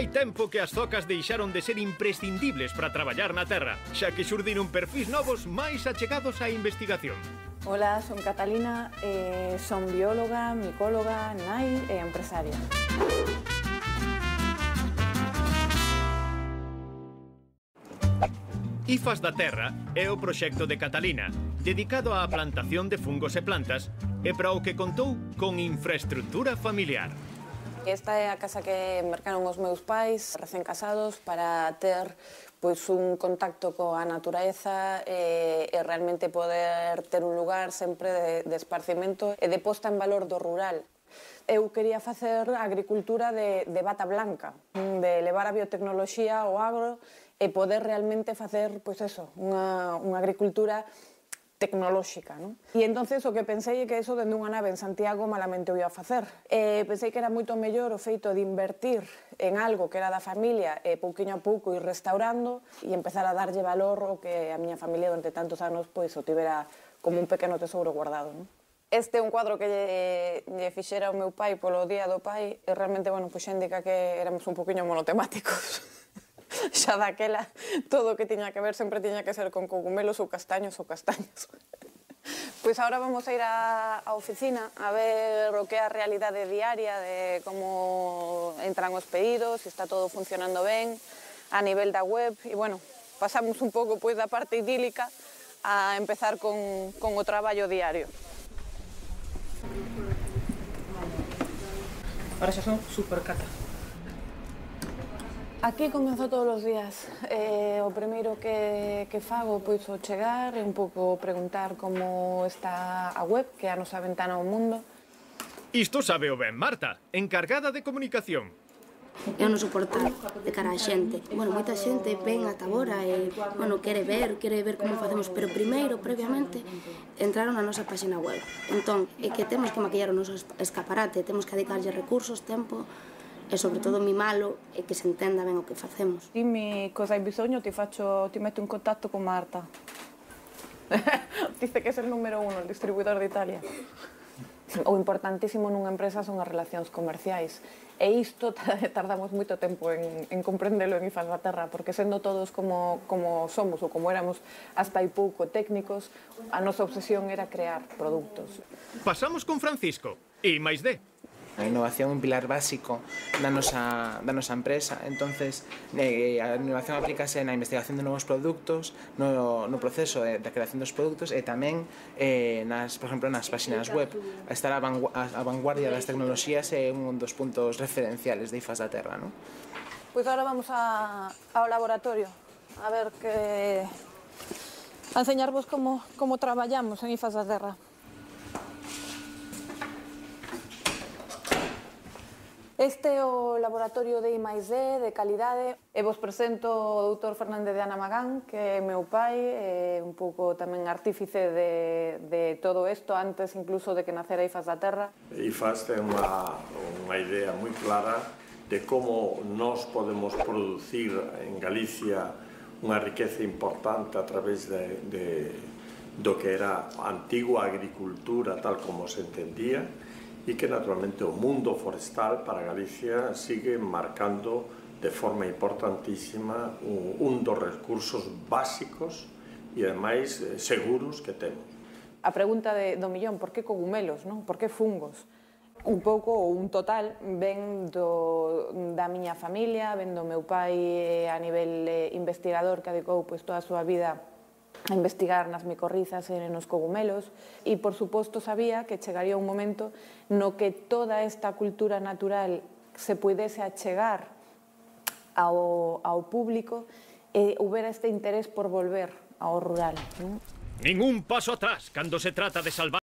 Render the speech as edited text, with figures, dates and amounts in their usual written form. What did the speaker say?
Fai tempo que as zocas deixaron de ser imprescindibles para traballar na terra, xa que xurdiron perfis novos máis achegados á investigación. Ola, son Catalina, son bióloga, micóloga, nai e empresaria. IFAS da Terra é o proxecto de Catalina, dedicado á plantación de fungos e plantas e para o que contou con infraestructura familiar. Esta é a casa que mercaron os meus pais, recén casados, para ter un contacto coa natureza e realmente poder ter un lugar sempre de esparcimento e de posta en valor do rural. Eu quería facer agricultura de bata blanca, de levar a biotecnoloxía ao agro e poder realmente facer, unha agricultura tecnolóxica, non? E entonces o que pensei é que eso dende unha nave en Santiago malamente o ia a facer. Pensei que era moito mellor o feito de invertir en algo que era da familia e pouquiño a pouco ir restaurando e empezar a darlle valor o que a miña familia durante tantos anos o tivera como un pequeno tesouro guardado, non? Este é un cuadro que lle fixera o meu pai polo Día do Pai e realmente, xa indica que éramos un poquinho monotemáticos. Xa daquela, todo o que tiña que ver sempre tiña que ser con cogumelos ou castaños ou castaños. Pois agora vamos a ir á oficina a ver o que é a realidade diaria de como entran os pedidos, se está todo funcionando ben a nivel da web e, pasamos un pouco da parte idílica a empezar con o traballo diario. Ahora xa son super cata. Aquí comenzo todos os días. O primeiro que fago ao chegar é un pouco preguntar como está a web, que é a nosa ventana ao mundo. Isto sabe o ben Marta, encargada de comunicación. É o noso portal de cara á xente. Moita xente ven ata agora e, quere ver como facemos, pero primeiro, previamente, entraron na nosa página web. Entón, é que temos que maquillar o noso escaparate, temos que dedicarlle recursos, tempo, e sobre todo mimalo e que se entenda ben o que facemos. Dimmi cosa hai bisogno, ti metto in contatto con Marta. Dice que é el número 1, el distribuidor de Italia. O importantísimo nunha empresa son as relacións comerciais. E isto tardamos moito tempo en comprendelo en IFAS da Terra, porque sendo todos como somos ou como éramos hasta hai pouco técnicos, a nosa obsesión era crear produtos. Pasamos con Francisco, e máis de. A innovación é un pilar básico da nosa empresa, entonces a innovación aplícase na investigación de novos produtos, no proceso da creación dos produtos e tamén, por exemplo, nas páxinas web. Estar a vanguardia das tecnoloxías é un dos puntos referenciales de IFAS da Terra, non? Pois agora vamos ao laboratorio, a ver a enseñarvos como traballamos en IFAS da Terra. Este é o laboratorio de I+D, de calidade, e vos presento o doutor Fernández de Ana Magán, que é meu pai, e un pouco tamén artífice de todo isto, antes incluso de que nacera IFAS da Terra. IFAS ten unha idea moi clara de como nós podemos producir en Galicia unha riqueza importante a través do que era a antigua agricultura tal como se entendía, e que naturalmente o mundo forestal para Galicia sigue marcando de forma importantísima un dos recursos básicos e ademais seguros que temos. A pregunta do millón, por que cogumelos, non? Por que fungos? Un pouco ou un total ven da miña familia, ven do meu pai a nivel investigador que dedicou toda a súa vida a investigar nas micorrizas e nos cogumelos e, por suposto, sabía que chegaría un momento no que toda esta cultura natural se pudese achegar ao público e houbera este interés por volver ao rural. Ningún paso atrás cando se trata de salvar